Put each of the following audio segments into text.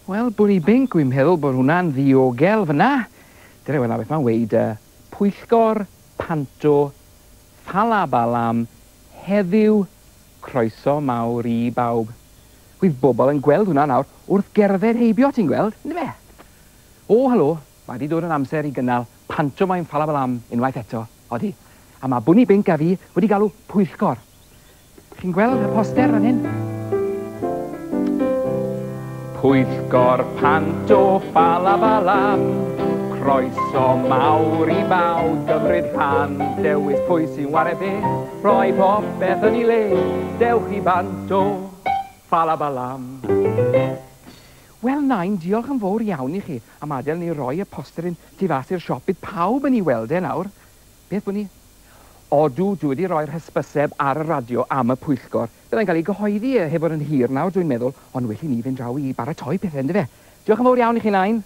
Wel, Bwni Binc, wi'n meddwl bod hwnna'n ddiogel fyna. Dyna wela beth mae'n weud, Pwyllgor Panto Ffalabalam heddiw, croeso mawr i bawb. Wydd bobl yn gweld hwnna nawr wrth gerdded heibio, ti'n gweld, yndyfe? O, helo, mae wedi dod yn amser i gynnal pantomaim Ffalabalam unwaith eto, odi. A mae Bwni Binc a fi wedi galw pwyllgor. Chi'n gweld y poster fan hyn? Pwyllgor Panto Ffalabalam, croeso mawr i bawb gymryd rhan, dewis pwy sy'n ware be, rhoi popeth yn ei le, dewch i Banto Ffalabalam. Wel, Nain, diolch yn fawr iawn i chi am adael ni roi y poster un tu fas i'r siop. Bydd pawb yn ei weld e nawr. Beth, Bwni? Odw, dwi wedi rhoi'r hysbyseb ar y radio am y pwyllgor. Byddai'n cael ei gyhoeddi heb fod yn hir nawr, dwi'n meddwl, ond well i ni fynd draw i baratoi pethau, yndyfe? Diolch yn fawr iawn i chi, Nain.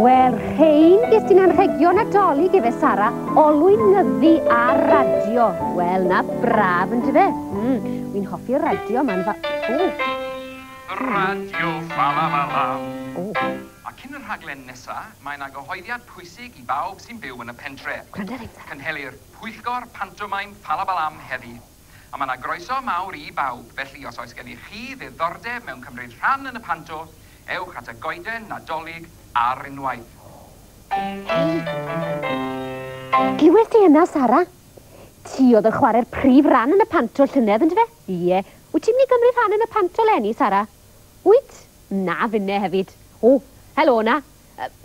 Wel, rhein ges ti'n anrhegion Nadolig efe, Sara, olwyn nyddu ar radio. Wel, na braf, yndyfe? Wi'n hoffi'r radio, ma'n fa... O! Radio Ffalabalam. O. A cyn y rhaglen nesa, mae yna gyhoeddiad pwysig i bawb sy'n byw yn y pentre. Gwranda reit, Sara. Cynhelir Pwyllgor Pantomaim Ffalabalam heddi. A mae yna groeso mawr i bawb, felly os oes gennych chi ddiddordeb mewn cymryd rhan yn y panto, ewch at y goeden Nadolig ar unwaith. Ei! Glywes ti hynna, Sara? Ti oedd yn chwarae'r prif ran yn y panto llynedd, yndyfe? Ie. Wyt ti'n mynd i gymryd rhan yn y panto leni, Sara? Wyt? Na, finne hefyd. O, helo na.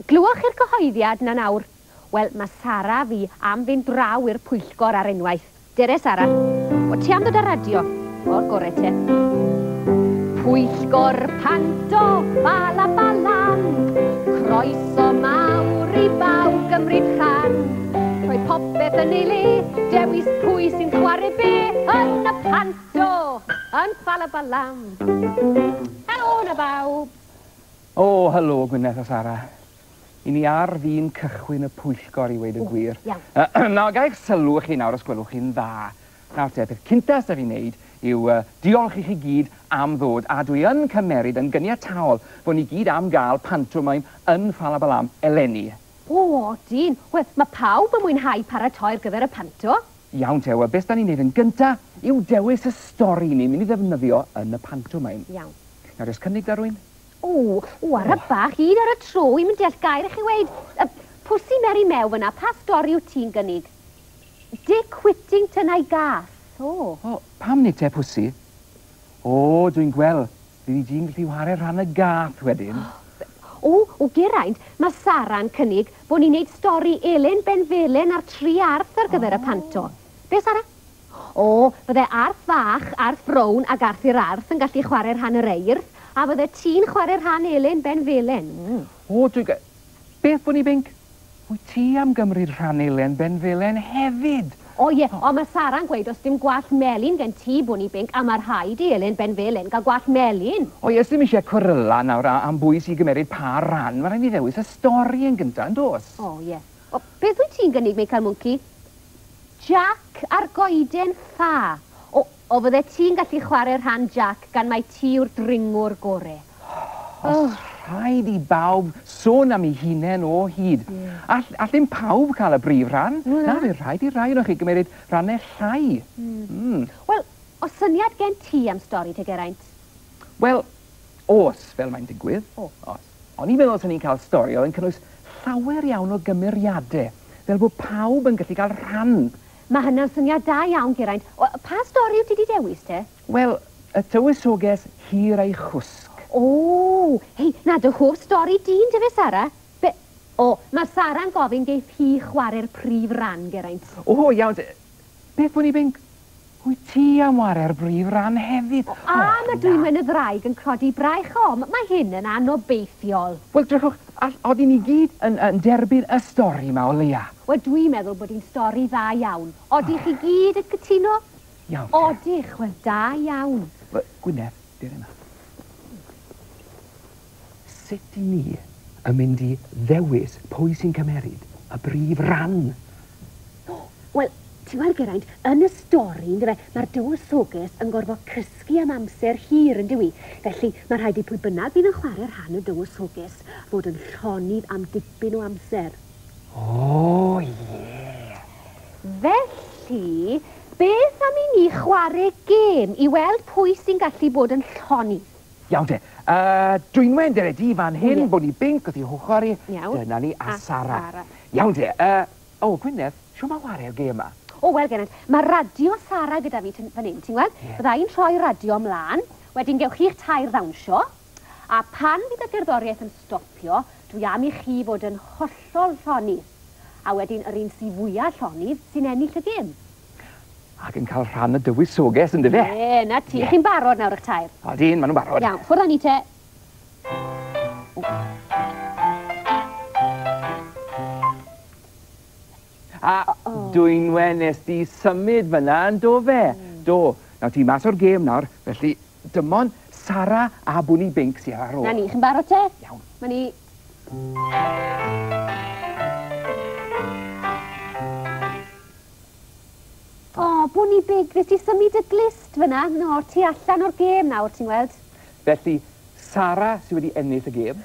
Glywch chi'r cyhoeddiad na nawr? Wel, mae Sara fi am fynd draw i'r pwyllgor ar unwaith. Dere, Sara. O, ti am ddod ar radio? O'r gore te. Pwyllgor Panto Ffalabalam, croeso mawr i bawb gymryd rhan. Rhoi popeth yn ei le, dewis pwy sy'n chwarae be yn y panto, yn Ffalabalam. Helo na bawb. O, helo Gwyneth a Sara. I ni ar fin cychwyn y pwyllgor i weud y gwir. Iawn. Nawr, ga i'ch sylw chi nawr os gwelwch chi'n dda. Nawr te, peth cynta sy 'da fi wneud yw diolch i chi gyd am ddod, a dwi yn cymeryd yn gyniataol bod ni gyd am gael pantomaim yn Ffalabalam eleni. O, odyn. Wel, mae pawb yn mwynhau paratoi ar gyfer y panto. Iawn te, wel, beth da ni'n neud yn gynta yw dewis y stori ni'n mynd i ddefnyddio yn y pantomaim. Iawn. Nawr, oes cynnig da rywun? O, o, ar y bach, un ar y tro, i'm yn deall gair i chi weud. Pwsi Meri Mew fyna, pa stori wyt ti'n gynnig? Dick Whittington a'i gath. O. O, pam nid te, Pwsi? O, dwi'n gweld, fyddi di'n gallu whare rhan y gath wedyn. O, o, Geraint, mae Sara'n cynnig bod ni'n neud stori Elen Benfelen a'r tri arth ar gyfer y panto. Be, Sara? O, fydde arth fach, arth brown ac arth i'r arth yn gallu chwarae rhan yr eirth, a fydde ti'n chwarae rhan Elen Benfelen. O, dwi'n Beth, Bwni Binc? Wyt ti am gymryd rhan Elen Benfelen hefyd? O ie, ond mae Sara'n gweud os dim gwallt melyn gen ti, Bwni Binc, a mae rhaid i Elen Benfelen gael gwallt melyn. O ie, sdim eisiau cweryla nawr am bwy sy'n gymeryd pa ran. Mae rhaid i ddewis y stori yn gyntaf, yn does? O ie. O, beth wyt ti'n gynnig, Michael Mwnci? Jack a'r goeden ffa. O, o fydde ti'n gallu chwarae rhan Jack gan mai ti yw'r dringwr gore. Os rhaid i bawb sôn am ei hunain o hyd. All ddim pawb cael y brif rhan. Na, fe rhaid i rai o'n chi gymeryd rhannau llai. Wel, oes syniad gen ti am stori te, Geraint? Wel, oes, fel mae'n digwydd. O. Oes. O'n i'n meddwl 'sen ni'n cael stori oedd yn cynnwys llawer iawn o gymeriadau, fel bod pawb yn gallu cael rhan. Mae hynna'n syniad da iawn, Geraint. O, pa stori wyt ti wedi dewis te? Wel, y tywysoges hir ei chwsg. O, hei, na dy hoff stori di, yndyfe, Sara? Be, O, mae Sara'n gofyn geith hi chwarae'r prif ran, Geraint. O, iawn. Beth, Bwni Binc? Wyt ti am ware'r brif ran hefyd? O, a mae Dwynwen y Ddraig yn codi braich. O, mae hyn yn anobeithiol. Wel, drychwch, odyn ni gyd yn derbyn y stori yma o leia. Wel, dwi'n meddwl bod hi'n stori dda iawn. Odych chi gyd yn cytuno? Iawn. Odych, wel, da iawn. Wel, Gwyneth, dere yma. Sut i ni yn mynd i ddewis pwy sy'n cymeryd y brif ran? Wel, ti'n gweld, Geraint, yn y stori, yndyfe, mae'r dywysoges yn gorfod cysgu am amser hir, yn dyw i? Felly, mae rhaid i pwy bynnag fydd yn chwarae rhan y dywysoges fod yn llonydd am dipyn o amser. O, ie! Felly, beth am i ni chwarae gêm i weld pwy sy'n gallu bod yn llonydd? Iawn te. Dwynwen, dere di fan hyn, Bwni Binc, wrth i hochr i. Iawn. Dyna ni, a Sara. Iawn te. O, Gwyneth, shwt mae chwarae'r gêm yma? O, wel, Geraint, mae radio Sara gyda fi fan hyn, ti'n gweld? Bydda i'n rhoi radio ymlaen, wedyn gewch chi'ch tair ddawnsio, a pan fydd y gerddoriaeth yn stopio, dwi am i chi fod yn hollol llonydd. A wedyn yr un sy'n fwyaf llonydd sy'n ennill y gêm. Ac yn cael rhan y dywysoges, yndyfe? Ie, na ti. Chi'n barod nawr eich tair? Odyn, maen nhw'n barod. Iawn, ffwrdd â ni te. A Dwynwen, nes di symud fyna yn do fe? Do. Nawr ti mas o'r gêm nawr, felly dim ond Sara a Bwni Binc sydd ar ôl. Na ni, chi'n barod te? Iawn. Ma ni. O, Bwni Binc, nes di symud y glust fyna? No, ti allan o'r gêm nawr, ti'n gweld? Felly, Sara sydd wedi ennill y gêm,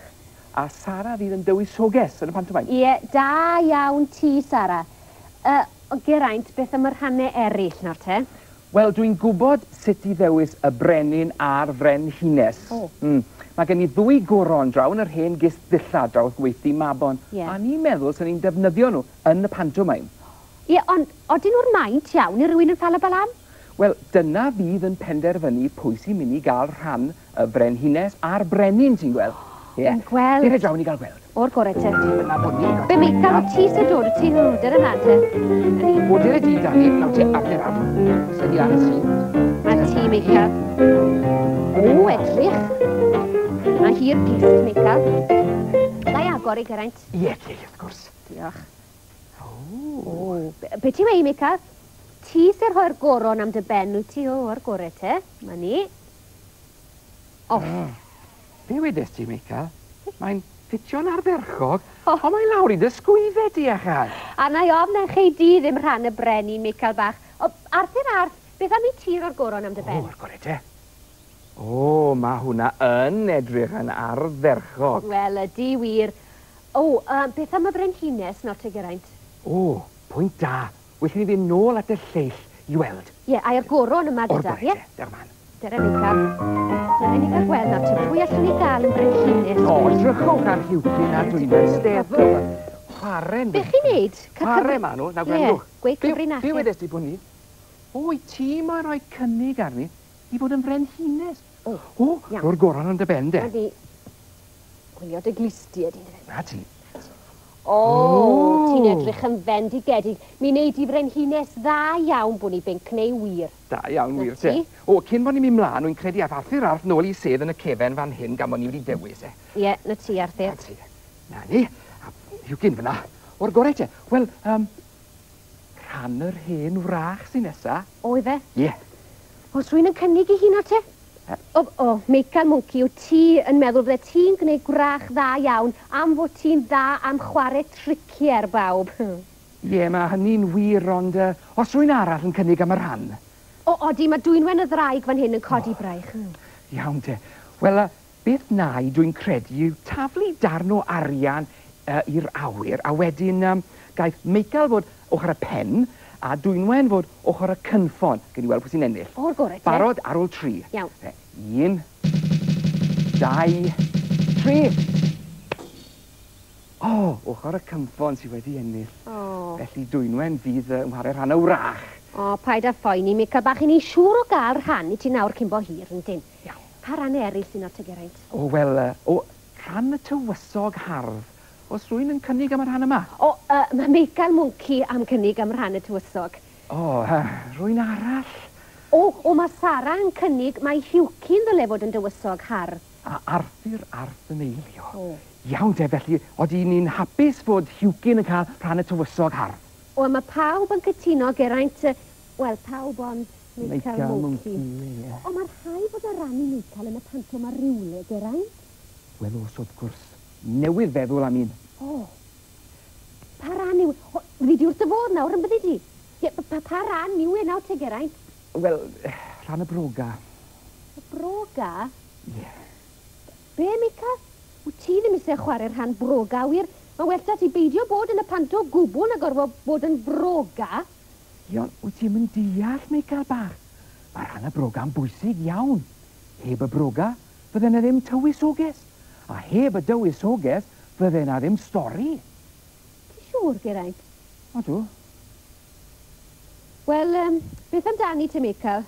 a Sara fydd yn dywysoges yn y pantomime. Ie, da iawn ti, Sara. Geraint, beth am y rhannau eraill nawr te? Wel, dwi'n gwybod sut i ddewis y brenin a'r frenhines. O. Mae gen i ddwy goron draw yn yr hen gist ddillad draw wrth gweithdy Mabon. Ie. A ni'n meddwl sy'n ni'n defnyddio nhw yn y pantomime. Ie, ond odyn nhw'r maint iawn i rywun yn Ffalabalam? Wel, dyna fydd yn penderfynu pwy sy'n mynd i gael rhan y frenhines a'r brenin, ti'n gweld. Ie. Dwi'n gweld. Dere draw ni gael gweld. O'r gorau te. Dyna bod ni. Be Meical, o ti sy'n dod, o ti hwn, dyna na te. O, dere di, Dani. Nawr te, ar ar. Sy'n di ar y syth. A ti, Meical. O, edrych. Mae hi'r glust, Meical. Ga i agor i, Geraint? Ie, ie, wrth gwrs. Diolch. O. Be ti'n weu, Meical? Ti sy'n rhoi'r goron am dy ben, wyt ti? O, o'r gorau te. Ma ni. O. Be wedes ti, Meical? Mae'n ffitio'n ardderchog, ond mae'n lawr i dy sgwyddau di, achan. A na i ofn na chei di ddim rhan y brenin, Meical bach. O, Arthur Arth, beth am i ti roi'r goron am dy ben? O, o'r gorau te. O, mae hwnna yn edrych yn ardderchog. Wel, ydy wir. O, beth am y brenhines nawr te, Geraint? O, pwynt da. Well i ni fynd nôl at y lleill i weld. Ie, a'r goron yma gyda, O'r gorau te, diolch man. Dere Meical. Dere ni gael gweld nawr te, pwy allwn ni gael yn brenhines? O, drychwch ar Huwcyn a Dwynwen Steddfod. Chwarae'n... Be chi'n neud? Chwarae ma nhw, na gwrandwch. Ie, gweud cyfrinachau. Be wedes ti bod ni? O, i ti mae'n rhoi cynnig arni i fod yn frenhines. O, O, ro'r goron yn dy ben de. Na di. Gwylio dy glustiau di. Na ti. O, ti'n edrych yn fendigedig. Mi wneud i frenhines dda iawn, Bwni Binc, neu wir. Da iawn, wir te. O, cyn bod ni'n mynd mlaen, wy'n credu ath Arthur Arth nôl i sedd yn y cefen fan hyn gan bod ni wedi dewis, e. Ie, na ti, Arthur. Na ti. Na ni. A Huwcyn fyna. O'r gorau te. Wel, rhan yr hen wrach sy'n nesa. O, ife? Ie. Oes rhywun yn cynnig i hun o'r te? O, Meical Mwnci, wyt ti yn meddwl fydde ti'n gwneud gwrach dda iawn am fod ti'n dda am chwarae triciau ar bawb? Ie, mae hynny'n wir, ond os rhywun arall yn cynnig am y rhan? O, odi, mae Dwynwen y Ddraig fan hyn yn codi braich. Iawn te. Wel, beth na i dwi'n credu yw taflu darn o arian i'r awyr, a wedyn gaeth Meical fod ochr y pen, a Dwynwen fod ochr y cynffon. Gen i weld pwy sy'n ennill. O'r gorau te. Barod ar ôl 3. Iawn. 1, 2, 3. O, ochr y cynffon sydd wedi ennill. O. Felly Dwynwen fydd yn chwarae rhan y wrach. O, paid â phoeni, Meical bach, i ni siŵr o gael rhan i ti nawr cyn bo hir, yndyn? Iawn. Pa rannau eraill sy'n o'r te, Geraint? O, wel, o, rhan y tywysog hardd. Oes rhywun yn cynnig am y rhan yma? O, mae Meical Mwnci am cynnig am rhan y tywysog. O, rhywun arall? O, mae Sara yn cynnig mae Huwci'n ddyle fod yn dywysog hardd. A Arthur Arth yn eilio. O. Iawn te, felly, oedden ni'n hapus fod Huwcyn yn cael rhan y tywysog hardd? O, mae pawb yn cytuno, Geraint, wel, pawb ond Meical Mwnci. O, mae'r rhai fod o ran i Meical yn y panto mae rhywle, Geraint. Wel, os wrth gwrs, newydd feddwl am un. O, pa ran yw... O, fyddi di wrth dy fodd nawr, yn byddi di? Ie, pa ran yw e nawr te, Geraint? Wel, rhan y broga. Y broga? Ie. Yeah. Be, Meical? Wyt ti ddim eisiau chwarae rhan broga, wir? Mae well da ti beidio bod yn y panto gwbl na gorfod bod yn broga. Iawn, wyt ti'n mynd deall, Meical bach? Mae rhan y broga'n bwysig iawn. Heb y broga, fydde na ddim tywysoges. A heb y dywysoges, fydde na ddim stori. Ti'n siŵr, Geraint? Odw. Wel, beth amdani te, Meical?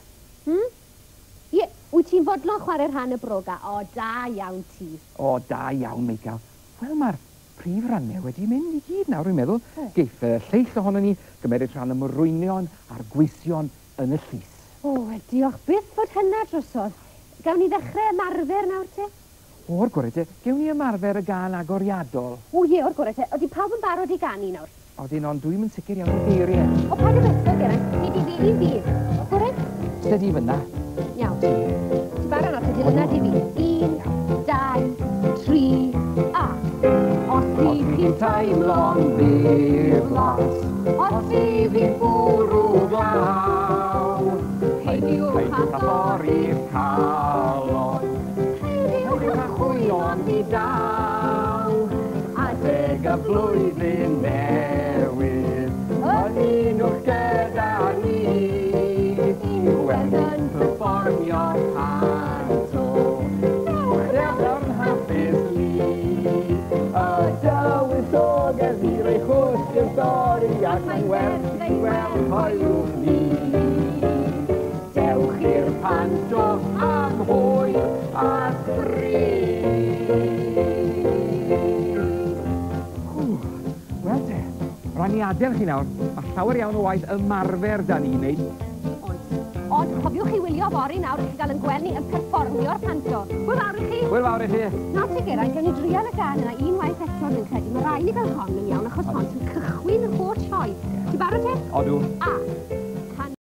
Ie, wyt ti'n fodlon chwarae rhan y broga? O, da iawn ti. O, da iawn, Meical. Wel, mae'r prif rannau wedi mynd i gyd nawr, dwi'n meddwl. Geiff y lleill ohono ni gymeryd rhan y morwynion a'r gweision yn y llys. O, wel, diolch byth fod hynna drosodd. Gawn ni ddechrau ymarfer nawr te? O'r gorau te, gewn ni ymarfer y gân agoriadol. O ie, o'r gorau te. Odi pawb yn barod i ganu nawr? Odyn, ond dwi'm yn sicr iawn o'r geiriau. O, paid â becso, Geraint. Ni di ddilyn fi. O'r gorau? Steady fyna. Iawn. Ti'n barod nawr te, dilyna di fi. 1, 2, 3, a. Os ych chi'n teimlo'n ddiflas, os ych chi'n bwrw glaw, peidiwch â thorri'ch calon, peidiwch â chwyno'n ddi-daw, adeg y flwyddyn newydd, ymunwch gyda ni, i weld yn perfformio panto. Dewch yn hapus lu, y dywysoges i roi chwst i'r stori, ac mae'n werth ei weld hoelwch ni. Dewch i'r panto am hwyl a sbri. Wel te, rhaid ni adael chi nawr. Mae llawer iawn o waith ymarfer da ni'n wneud. Oes. Ond cofiwch chi wylio fory nawr i chi gael yn gweld ni yn perfformio'r panto. Hwyl fawr i chi! Hwyl fawr i chi! Nawr te, Geraint, gawn ni drial y gân yna unwaith eto, dwi'n credu. Mae rhaid ni gael hon yn iawn, achos hon sy'n cychwyn yr holl sioe. Ti'n barod te? Odw. A.